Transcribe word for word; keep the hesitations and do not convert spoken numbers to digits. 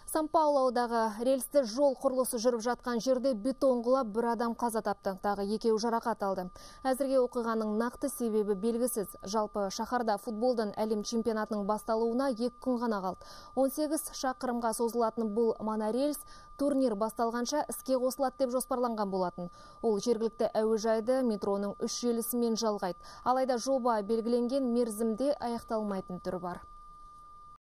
Сан-Паулодағы рельсті жол құрылысы жүріп жатқан жерде бетон құлап бір адам қаза тапты, тағы екеуі жарақат алды. Әзірге оқиғаның нақты себебі белгісіз. Жалпы шаһарда футболдан әлем чемпионатының басталуына екі күн ғана қалды. он сегіз шақырымға созылатын бұл монорельс турнир басталғанша іске қосылады деп жоспарланған болатын. Ол жергілікті әуежайды метроның үш желісімен жалғайды. Алайда жоба белгіленген мерзімде аяқталмайтын түрі бар.